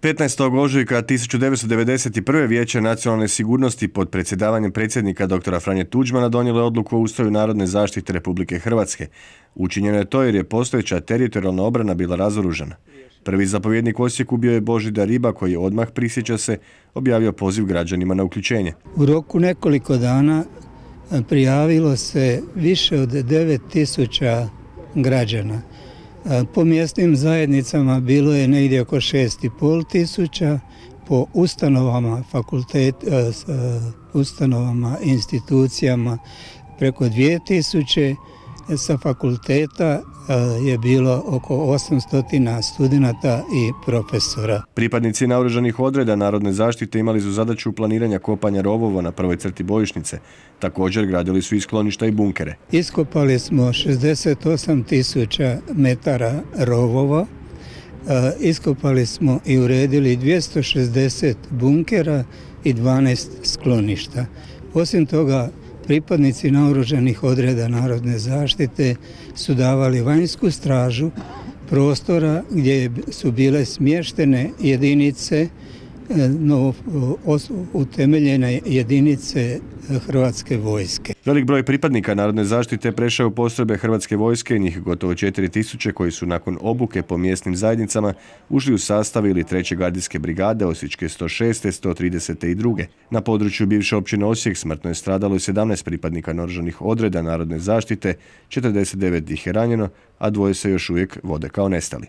15. ožujka 1991. Vijeće nacionalne sigurnosti pod predsjedavanjem predsjednika dr. Franje Tuđmana donijelo je odluku o ustroju Narodne zaštite Republike Hrvatske. Učinjeno je to jer je postojeća teritorijalna obrana bila razoružana. Prvi zapovjednik u Osijeku bio je Božidar Riba koji je odmah, prisjeća se, objavio poziv građanima na uključenje. U roku nekoliko dana prijavilo se više od 9.000 građana. Po mjesnim zajednicama bilo je negdje oko 6.500, po ustanovama, ustanovama, institucijama preko 2.000, sa fakulteta je bilo oko 800 studenata i profesora. Pripadnici naoružanih odreda Narodne zaštite imali su zadaću planiranja kopanja rovova na prvoj crti bojišnice. Također gradili su i skloništa i bunkere. Iskopali smo 68.000 metara rovova, iskopali smo i uredili 260 bunkera i 12 skloništa. Osim toga, pripadnici naoružanih odreda Narodne zaštite su davali vanjsku stražu prostora gdje su bile smještene jedinice, utemeljene jedinice Hrvatske vojske. Velik broj pripadnika Narodne zaštite prešao u postrojbe Hrvatske vojske, njih gotovo 4.000 koji su nakon obuke po mjesnim zajednicama ušli u sastav ili 3. gardijske brigade Osječke 106. 132. Na području bivše općine Osijek smrtno je stradalo 17 pripadnika naoružanih odreda Narodne zaštite, 49 ih je ranjeno, a 2 se još uvijek vode kao nestali.